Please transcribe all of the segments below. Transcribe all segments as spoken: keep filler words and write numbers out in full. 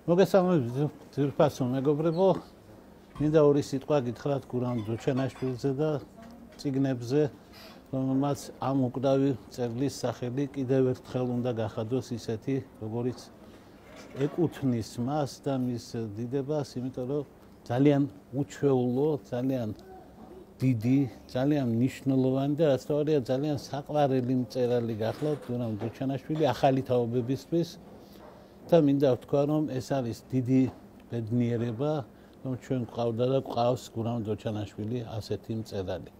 მოგესალმებით ძვირფასო მეგობრებო, მინდა ორი სიტყვა გითხრათ გურამ დოჩანაშვილზე და წიგნებზე, რომელმაც ამ უკრავი წერლის სახელი კიდევ ერთხელ უნდა გახადოს ისეთი, როგორიც ეკუთვნის მას და მის დიდებას, იმიტომ რომ ძალიან უჩვეულო, ძალიან დიდი, ძალიან მნიშვნელოვანი და რაც თორია ძალიან საყვარელი მწერალი გახლავთ გურამ დოჩანაშვილი ახალი თაობებისთვის. და მინდა ვთქვა, რომ ეს არის დიდი ბედნიერება, რომ ჩვენ გვყავდა და გვყავს გურამ დოჩანაშვილი ასეთი მწერალი.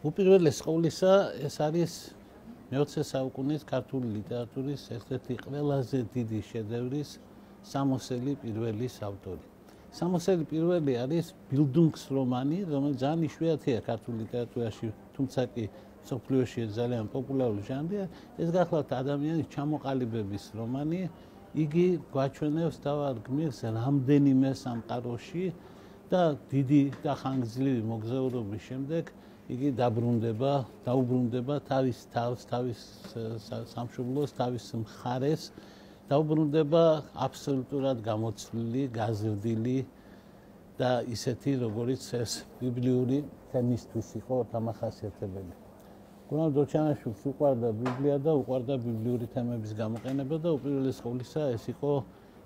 უპირველეს ყოვლისა, ეს არის მეოცე საუკუნის ქართული ლიტერატურის ერთ-ერთი ყველაზე დიდი შედევრის სამოსელი პირველის ავტორი. სამოსელი პირველი არის ბილდუნგსრომანი, რომელიც ძალიან იშვიათია ქართულ ლიტერატურაში, თუმცა კი მსოფლიოში ძალიან პოპულარული ჟანრია. ეს გახლავთ ადამიანის ჩამოყალიბების რომანი. იგი გვაჩვენებს თავად გმირს რამდენიმე სამყაროში და დიდი და ხანგრძლივი მოგზაურობის შემდეგ იგი დაბრუნდება, დაუბრუნდება თავის თავს, თავის სამშობლოს, თავის მხარეს, დაუბრუნდება აბსოლუტურად გამოცვლილი, გაზრდილი და ისეთი, როგორც ეს ბიბლიური თემისთვის იყო დამახასიათებელი. გურამ დოჩანაშვილს უყვარდა ბიბლია და უყვარდა ბიბლიური თემების გამოყენება და უპირველეს ყოვლისა ეს იყო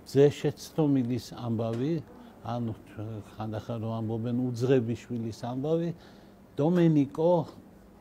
ძე შეცდომილის ამბავი, ანუ ხანდახან რომ ამბობენ უძღებიშვილის ამბავი, დომენიკო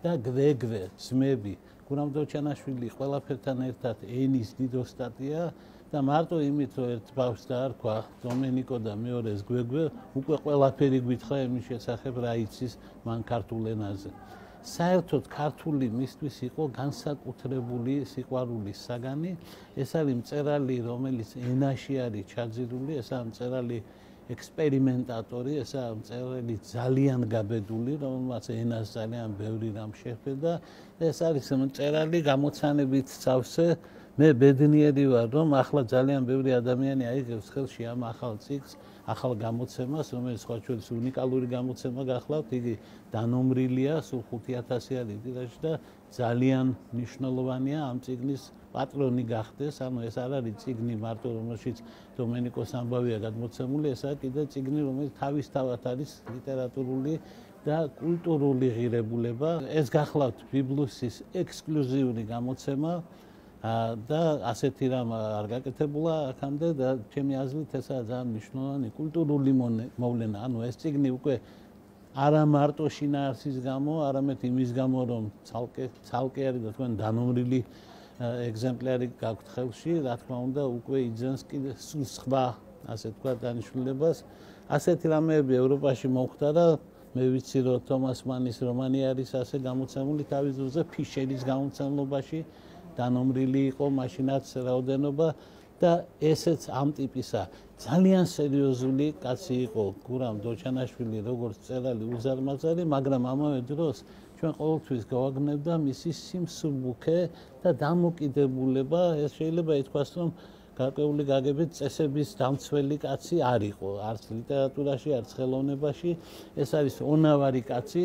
და გვეგვე ძმები. გურამ დოჩანაშვილი ყველაფერთან ერთად ენის დიდოსტატია და მარტო იმით რომ ერთ ბავშვს დაარქვა დომენიკო და მეორეს გვეგვე, უკვე ყველაფერი გვითხრა იმის შესახებ რა იცის მან ქართულ ენაზე. საერთოდ ქართული მისთვის იყო განსაკუთრებული სიყვარულის საგანი. ეს არის მწერალი, რომელიც ენაში არის ჩაძირული, ეს არის მწერალი ექსპერიმენტატორი, ეს არის მწერალი ძალიან გაბედული, რომელმაც ენას ძალიან ბევრი რამ შეხვდა. ეს არის მწერალი გამოცანებით სავსე. მე ბედნიერი ვარ, რომ ახლა ძალიან ბევრი ადამიანი აიღებს ხელში ამ ახალ ციკლს, ახალ გამოცემას, რომელიც სხვა შორის უნიკალური გამოცემა გახლავთ, იგი დანომრილია, სულ ხუთი ათასი არის ტირაჟი და ძალიან მნიშვნელოვანია ამ წიგნის პატრონი გახდეს. ანუ ეს არ არის წიგნი მარტო, რომელშიც დომენიკოს ამბავია გადმოცემული, ეს არის კიდე წიგნი, რომელიც თავისთავად არის ლიტერატურული და კულტურული ღირებულება. ეს გახლავთ ბიბლუსის ექსკლუზიური გამოცემა. და ასეთი რამ არ გაკეთებულა აქამდე და ჩემი აზრით ესაა ძალიან მნიშვნელოვანი კულტურული მოვლენა. ანუ ეს წიგნი უკვე არა მარტო შინაარსის გამო, არამედ იმის გამო, რომ ცალკე ცალკე არის და თქვენ დანომრილი ეგზემპლარი გაქვთ ხელში, რა თქმა უნდა, უკვე იძენს კიდე სულ სხვა, ასე თქვა, დანიშნულებას. ასეთი რამეები ევროპაში მოხდა და მე ვიცი, რომ თომას მანის რომანი არის ასე გამოცემული თავის დროზე ფიშერის გამოცემლობაში. დანომრილი იყო მაშინაც რაოდენობა და ესეც ამ ტიპისა ძალიან სერიოზული კაცი იყო გურამ დოჩანაშვილი, როგორც მწერალი უზარმაზარი, მაგრამ ამავე დროს ჩვენ ყოველთვის გავაგნებდა მისი სიმსუბუქე და დამოკიდებულება. ეს შეიძლება ითქვას, რომ გარკვეული გაგებით წესების დამცველი კაცი არ იყო, არც ლიტერატურაში, არც ხელოვნებაში. ეს არის ონავარი კაცი.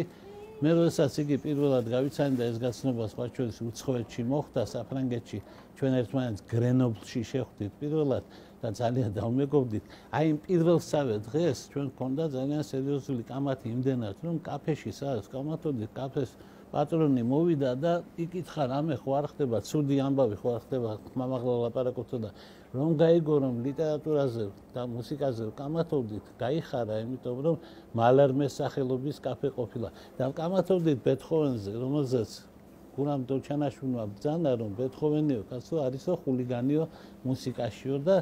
მე როდესაც იგი პირველად გავიცანდა ეს გაცნობა სხვა შორის უცხოეთში მოხდა, საფრანგეთში, ჩვენ ერთმანეთს გრენობლში შეხვდით პირველად და ძალიან დავმეგობრდით. აი იმ პირველსავე დღეს ჩვენ გქონდა ძალიან სერიოზული კამათი იმდენად, რომ კაფეში სადაც გავმართოდით, კაფეს პატრონი მოვიდა და იკითხა, რამე ხო არ ხდება, ცუდი ამბავი ხო არ ხდება, ხმამაღლა ლაპარაკობთ და რომ გაიგო, რომ ლიტერატურაზე და მუსიკაზე ვკამათობდით, გაიხარა, იმიტომ რომ მალარმეს სახელობის კაფე ყოფილა. და ვკამათობდით ბეთჰოვენზე, რომელზეც გურამ დოჩანაშვილმა ბრძანა, რომ ბეთჰოვენიო კაცო არისო ხულიგანიო მუსიკაშიო და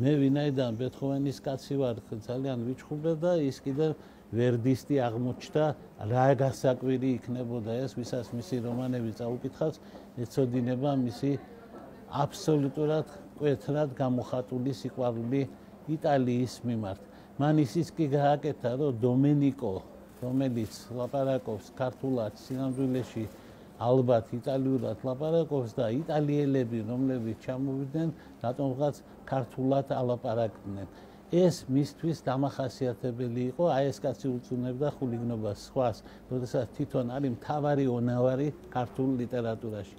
მე ვინაიდან ბეთჰოვენის კაცი ვარ, ძალიან ვიჩხუბე და ის კიდე ვერდისტი აღმოჩნდა, რა გასაკვირი იქნებოდა ეს, ვისაც მისი რომანები წაუკითხავს, ეცოდინება მისი აბსოლუტურად მკვეთრად გამოხატული სიყვარული იტალიის მიმართ. მან ისიც კი გააკეთა, რომ დომენიკო, რომელიც ლაპარაკობს ქართულად სინამდვილეში ალბათ იტალიურად ლაპარაკობს და იტალიელები, რომლებიც ჩამოვიდნენ, რატომღაც ქართულად ალაპარაკდნენ. ეს მისთვის დამახასიათებელი იყო, აი ეს კაცი უწუნებდა ხულიგნობას სხვას, როდესაც თვითონ არის მთავარი ონავარი ქართულ ლიტერატურაში.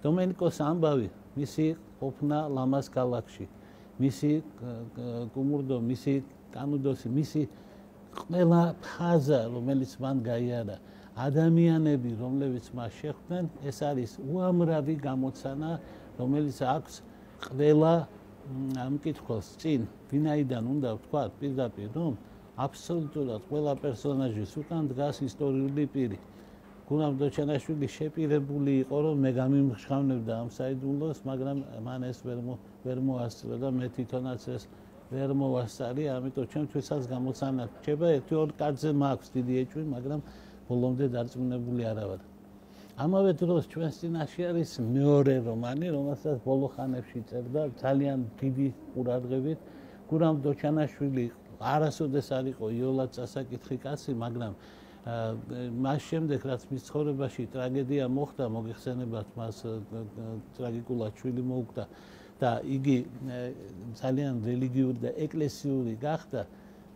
დომენიკოს ამბავი მისი ყოფნა ლამაზ ქალაქში. მისი კუმურდო, მისი კანუდოსი, მისი ყველა ფაზა, რომელიც მან გაიარა, ადამიანები, რომლებიც მას შეხვდნენ, ეს არის უამრავი გამოცანა, რომელიც აქვს ყველა ამ კითხვას წინ, ვინაიდან უნდა ვთქვათ პირდაპირ, რომ აბსოლუტურად ყველა პერსონაჟის უკან დგას ისტორიული პირი. გურამ დოჩანაშვილი შეპირებული იყო, რომ მე გამიმხშავნებდა ამ საიდუმლოს, მაგრამ მან ეს ვერ ვერ მოასწრო და მე თვითონაც ეს ვერ მოვასწარი, ამიტომ ჩემთვისაც გამოცანა რჩება ერთი ორ კაცზე მაქვს დიდი ეჭვი, მაგრამ ბოლომდე დარწმუნებული არა ვარ. ამავე დროს ჩვენს წინაშე არის მეორე რომანი, რომელსაც ბოლო ხანებში წერდა ძალიან დიდი ყურადღებით გურამ დოჩანაშვილი. არასოდეს არ იყო იოლად წასაკითხი კაცი, მაგრამ მას შემდეგ რაც მის ცხოვრებაში ტრაგედია მოხდა, მოგეხსენებათ მას ტრაგიკულად შვილი მოუკვდა და იგი ძალიან რელიგიური და ეკლესიური გახდა,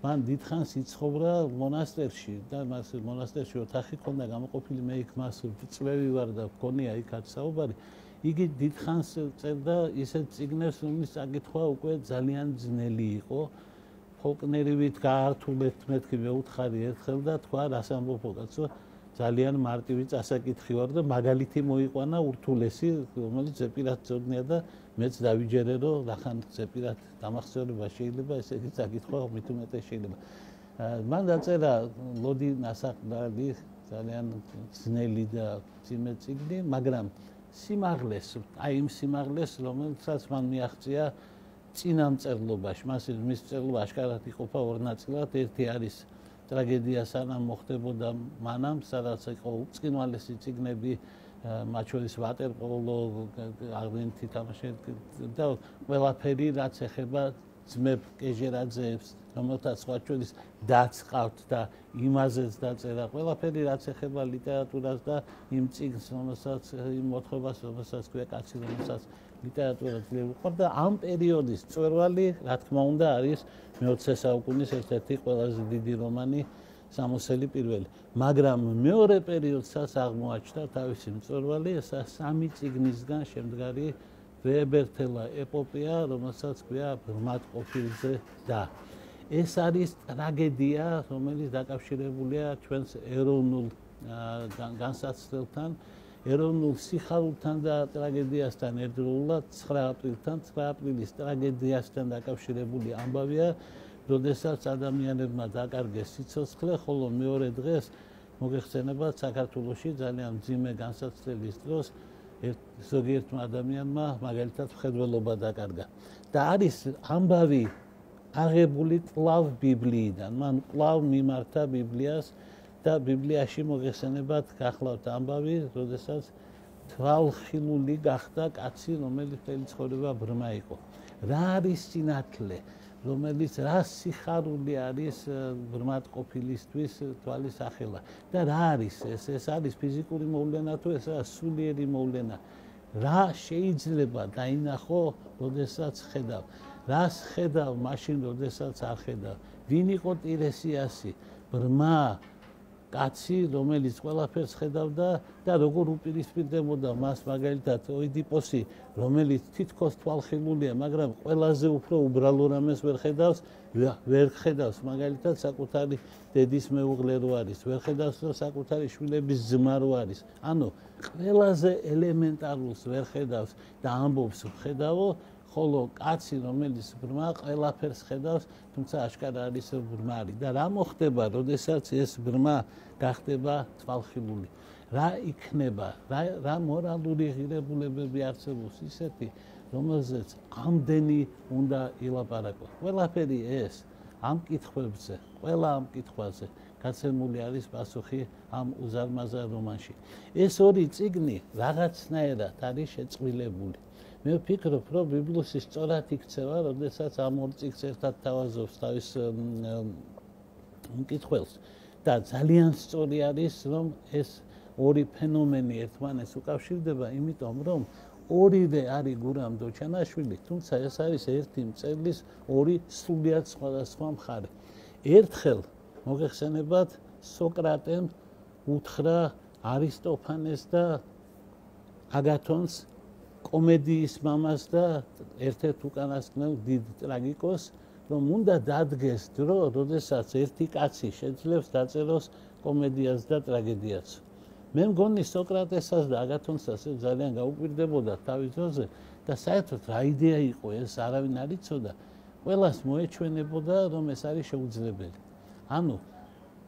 მან დიდხანს იცხოვრა მონასტერში და მას მონასტერში ოთახი ჰქონდა გამოყოფილი, მე იქ მას წვევი ვარ და გქონია იქაც საუბარი. იგი დიდხანს წერდა ისეთ წიგნებს, რომლის წაკითხვა უკვე ძალიან ძნელი იყო. ფოლკნერივით გაართულეთ მეთქი მეუთხარი ერთხელ და თქვა რას ამბობო კაცო, ძალიან მარტივი წასაკითხი ვარ და მაგალითი მოიყვანა ურთულესი, რომელიც ზეპირად წოდნია და მეც დავიჯერე, რომ რახან ზეპირად დამახსოვრება შეიძლება, ესე იგი წაკითხვა მით უმეტეს შეიძლება. მან დაწერა ლოდი ნასაყდალი, ძალიან ძნელი და ძიმე წიგნი, მაგრამ სიმაღლეს, აი იმ სიმაღლეს, რომელსაც მან მიაღწია წინამწერლობაში, მას მის წერლობა აშკარად იყოფა ორ ნაწილად, ერთი არის ტრაგედია სანამ მოხდებოდა მანამ, სადაც იყო უწყინვალესი წიგნები, მათ შორის ვატერპოლო, აღდგენითი თამაში და ყველაფერი, რაც ეხება ძმებ კეჟერაძეებს, რომელთაც სხვა შორის დაც ყავთ და იმაზეც დაწერა, ყველაფერი, რაც ეხება ლიტერატურას და იმ წიგნს, რომელსაც იმ მოთხრობას, რომელსაც ქვია კაცი, რომელსაც ლიტერატურა ძლიერი უყვარდა და ამ პერიოდის მწვერვალი, რა თქმა უნდა, არის მეოცე საუკუნის ერთ-ერთი ყველაზე დიდი რომანი სამოსელი პირველი. მაგრამ მეორე პერიოდსაც აღმოაჩნდა თავისი მწვერვალი, ესა სამი წიგნისგან შემდგარი ვეებერთელა ეპოპეა, რომელსაც ქვია ბრმად ყოფილზე და ეს არის ტრაგედია, რომელიც დაკავშირებულია ჩვენს ეროვნულ განსაცდელთან, ეროვნულ სიხარულთან და ტრაგედიასთან ერთდროულად ცხრა აპრილთან, ცხრა აპრილის ტრაგედიასთან დაკავშირებული ამბავია, როდესაც ადამიანებმა დაკარგეს სიცოცხლე, ხოლო მეორე დღეს მოგეხსენებათ საქართველოში ძალიან მძიმე განსაცდელის დროს ზოგიერთმა ადამიანმა მაგალითად მხედველობა დაკარგა. და არის ამბავი აღებული კვლავ ბიბლიიდან, მან კვლავ მიმართა ბიბლიას და ბიბლიაში მოგეხსენებათ გახლავთ ამბავი, როდესაც თვალხილული გახდა კაცი, რომელიც მთელი ცხოვრება ბრმა იყო. რა არის სინათლე, რომელიც რა სიხარული არის ბრმად ყოფილისთვის თვალის ახელა და რა არის ეს? ეს არის ფიზიკური მოვლენა თუ ეს არის სულიერი მოვლენა? რა შეიძლება დაინახო, როდესაც ხედავ? რას ხედავ მაშინ, როდესაც არ ხედავ? ვინ იყო ტირესიასი? ბრმა კაცი, რომელიც ყველაფერს ხედავდა და როგორ უპირისპირდებოდა მას მაგალითად ოიდიპოსი, რომელიც თითქოს თვალხილულია, მაგრამ ყველაზე უფრო უბრალო რამეს ვერ ხედავს, ვერ ხედავს მაგალითად საკუთარი დედის მეუღლე რო არის, ვერ ხედავს რომ საკუთარი შვილების ძმა რო არის. ანუ ყველაზე ელემენტარულს ვერ ხედავს და ამბობს ვხედავო, ხოლო კაცი, რომელიც ბრმა, ყველაფერს ხედავს, თუმცა აშკარა არის ბრმარი. და რა მოხდება, როდესაც ეს ბრმა გახდება თვალხილული? რა იქნება? რა რა მორალური ღირებულებები არსებობს ისეთი, რომელზეც ამდენი უნდა ილაპარაკო? ყველაფერი ეს ამ კითხვებზე, ყველა ამ კითხვაზე გაცემული არის პასუხი ამ უზარმაზარ რომანში. ეს ორი წიგნი რაღაცნაირად არის შეწყვილებული. მე ვფიქრობ, რომ ბიბლიუსი სწორად იქცევა, როდესაც ამ ორ წიგნს ერთად თავაზობს თავის მკითხველს და ძალიან სწორი არის, რომ ეს ორი ფენომენი ერთმანეთს უკავშირდება, იმიტომ რომ ორივე არის გურამ დოჩანაშვილი, თუმცა ეს არის ერთი მწერლის ორი სრულიად სხვადასხვა მხარე. ერთხელ მოგეხსენებათ, სოკრატემ უთხრა არისტოფანეს და აგათონს კომედიის მამას და ერთ-ერთ უკანასკნელ დიდ ტრაგიკოს, რომ უნდა დადგეს დრო, როდესაც ერთი კაცი შეძლებს დაწეროს კომედიას და ტრაგედიას. მე მგონი სოკრატესაც და აგათონსაც ძალიან გაუკვირდებოდა თავის დროზე და საერთოდ რა იდეა იყო ეს, არავინ არ იცოდა. ყველას მოეჩვენებოდა, რომ ეს არის შეუძლებელი. ანუ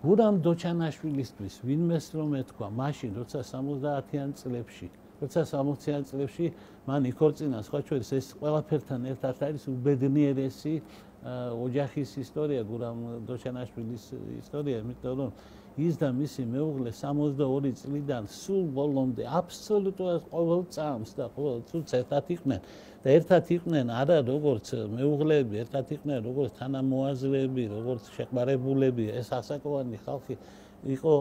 გურამ დოჩანაშვილისთვის ვინმეს რომ ეთქვა, მაშინ როცა სამოცდაათიან წლებში, როცა სამოციან წლებში მან იქორწინა, სხვა შორის ეს ყველაფერთან ერთად არის უბედნიერესი ოჯახის ისტორია, გურამ დოჩანაშვილის ისტორია, იმიტომ რომ ის და მისი მეუღლე სამოცდაორი წლიდან სულ ბოლომდე აბსოლუტურად ყოველ წამს და ყოველ წუთს ერთად იყვნენ და ერთად იყვნენ არა როგორც მეუღლეები, ერთად იყვნენ როგორც თანამოაზრეები, როგორც შეყვარებულები. ეს ასაკოვანი ხალხი იყო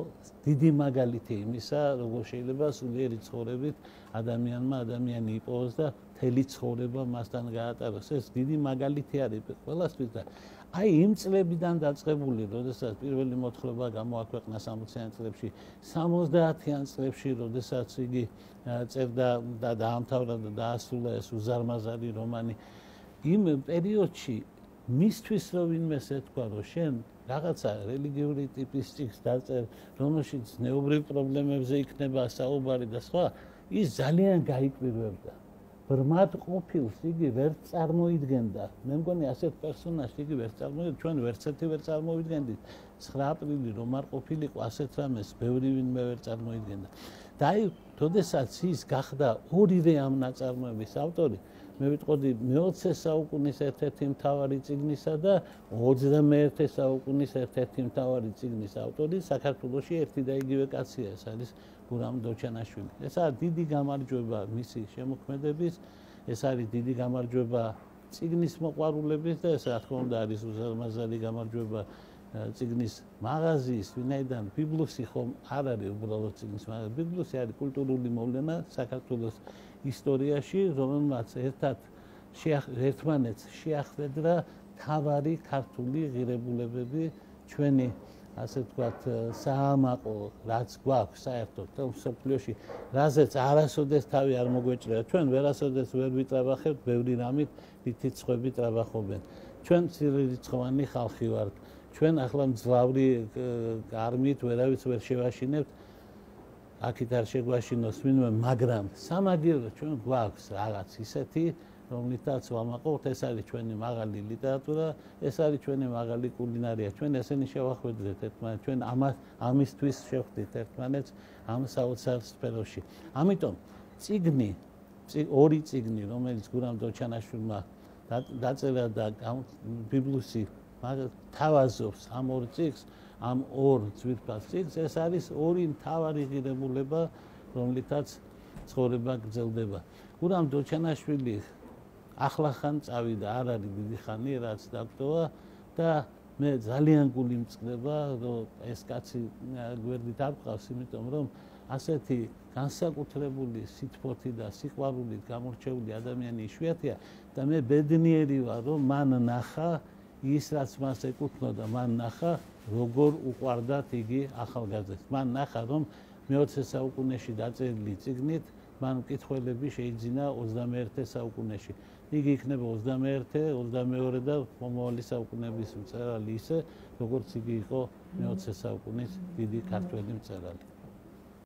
დიდი მაგალითი იმისა, როგორ შეიძლება სულიერი ცხოვრებით ადამიანმა ადამიანი იპოვოს და მთელი ცხოვრება მასთან გაატაროს. ეს დიდი მაგალითი არის ყველასთვის და აი იმ წლებიდან დაწყებული, როდესაც პირველი მოთხრობა გამოაქვეყნა სამოციან წლებში, სამოცდაათიან წლებში, როდესაც იგი წერდა და დაამთავრა და დაასრულა ეს უზარმაზარი რომანი, იმ პერიოდში მისთვის რომ ვინმეს ეთქვა, რომ შენ რაღაცა რელიგიური ტიპის წიგნს დაწერ, რომელშიც ზნეობრივ პრობლემებზე იქნება საუბარი და სხვა, ის ძალიან გაიკვირვებდა. ბრმად ყოფილს იგი ვერ წარმოიდგენდა. მე მგონი ასეთ პერსონაჟს იგი ვერ წარმოიდგენდა, ჩვენ ვერც ერთი ვერ წარმოვიდგენდით. ცხრა აპრილი რომ არ ყოფილიყო ასეთ რამეს, ბევრი ვინმე ვერ წარმოიდგენდა. და აი, როდესაც ის გახდა ორივე ამ ნაწარმოების ავტორი, მე ვიტყოდი მეოცე საუკუნის ერთ-ერთი მთავარი წიგნისა და ოცდამეერთე საუკუნის ერთ-ერთი მთავარი წიგნის ავტორი საქართველოში ერთი და იგივე კაცია, ეს არის გურამ დოჩანაშვილი. ეს არის დიდი გამარჯვება მისი შემოქმედების, ეს არის დიდი გამარჯვება წიგნის მოყვარულების და ეს რა თქმა უნდა არის უზარმაზარი გამარჯვება წიგნის მაღაზიის, ვინაიდან ბიბლუსი ხომ არ არის უბრალოდ წიგნის მაღაზია, ბიბლუსი არის კულტურული მოვლენა საქართველოს ისტორიაში, რომელმაც ერთად ერთმანეთს შეახვედრა მთავარი ქართული ღირებულებები, ჩვენი ასე ვთქვათ, საამაყო, რაც გვაქვს საერთოდ მსოფლიოში, რაზეც არასოდეს თავი არ მოგვეჭრია. ჩვენ ვერასოდეს ვერ ვიტრაბახებთ ბევრი რამით, რითიც სხვები ტრაბახობენ. ჩვენ მცირერიცხოვანი ხალხი ვართ. ჩვენ ახლა მძლავრი არმით ვერავის ვერ შევაშინებთ, აქეთ არ შეგვაშინოს ვინმე, მაგრამ სამაგიეროდ ჩვენ გვაქვს რაღაც ისეთი, რომლითაც ვამაყობთ, ეს არის ჩვენი მაღალი ლიტერატურა, ეს არის ჩვენი მაღალი კულინარია. ჩვენ ესენი შევახვედრეთ ერთმანეთს, ჩვენ ამისთვის შევხვდით ერთმანეთს ამ საოცარ სფეროში. ამიტომ წიგნი, ორი წიგნი, რომელიც გურამ დოჩანაშვილმა დაწერა და ბიბლუსი თავაზობს ამ ორ წიგნს, ამ ორ ძვირფას წიგნს, ეს არის ორი მთავარი ღირებულება, რომლითაც ცხოვრება გრძელდება. გურამ დოჩანაშვილი ახლახან წავიდა, არ არის დიდი ხანი, რაც დაგტოვა და მე ძალიან გული მწყდება, რომ ეს კაცი გვერდით არ ყავს, იმიტომ რომ ასეთი განსაკუთრებული სითბოთი და სიყვარულით გამორჩეული ადამიანი იშვიათია და მე ბედნიერი ვარ, რომ მან ნახა ის, რაც მას ეკუთვნოდა, მან ნახა, როგორ უყვარდათ იგი ახალგაზრდებს. მან ნახა, რომ მეოცე საუკუნეში დაწერილი წიგნით მან მკითხველები შეიძინა ოცდამეერთე საუკუნეში. იგი იქნება ოცდამეერთე, ოცდამეორე და მომავალი საუკუნეების მწერალი ისე, როგორც იგი იყო მეოცე საუკუნის დიდი ქართველი მწერალი.